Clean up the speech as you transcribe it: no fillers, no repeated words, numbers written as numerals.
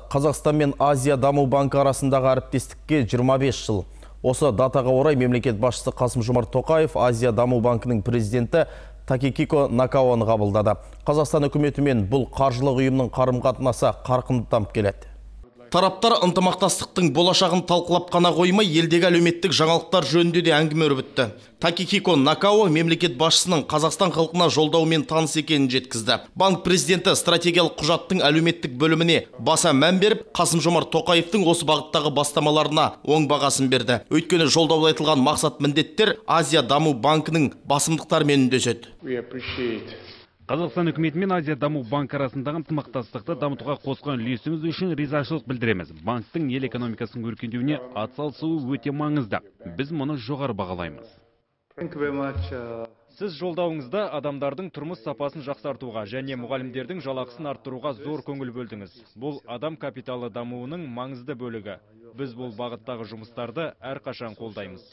Қазақстан мен Азия даму банкі арасындағы әріптестікке 25 жыл. Осы датаға орай мемлекет басшысы Қасым-Жомарт Тоқаев Азия даму банкінің президенті Такихико Накаоны қабылдады. Қазақстан үкіметімен бұл қаржылық ұйымның қарым-қатынасы қарқынды дамып келеді. Тараптар ынтымақтастықтың болашағын талқылап қана қоймай, елдегі әлеуметтік жаңалықтар жөнінде де әңгіме өрбітті. Такихико Накао мемлекет басшысының Қазақстан халқына жолдауымен таныс екенін жеткізді. Банк президенті стратегиялық құжаттың әлеуметтік бөліміне баса мән беріп, Қасым-Жомарт Тоқаевтың осы бағыттағы бастамаларына оң бағасын берді. Өйткені жолдауда айтылған мақсат міндеттер Азия даму банкінің басымдықтарымен үндеседі. Қазақстан үкіметі мен Азия даму банкі арасындағы ынтымақтастықты дамытуға қосқан үлесіңіз үшін ризашылық білдіреміз. Банктың ел экономикасының өркендеуіне атсалысуы өте маңызды. Біз мұны жоғары бағалаймыз. Сіз жолдауыңызда адамдардың тұрмыс сапасын жақсартуға және мұғалімдердің жалақысын арттыруға зор көңіл бөлдіңіз. Бұл адам капиталы дамуының маңызды бөлігі. Біз бұл бағыттағы жұмыстарды әрқашан қолдаймыз.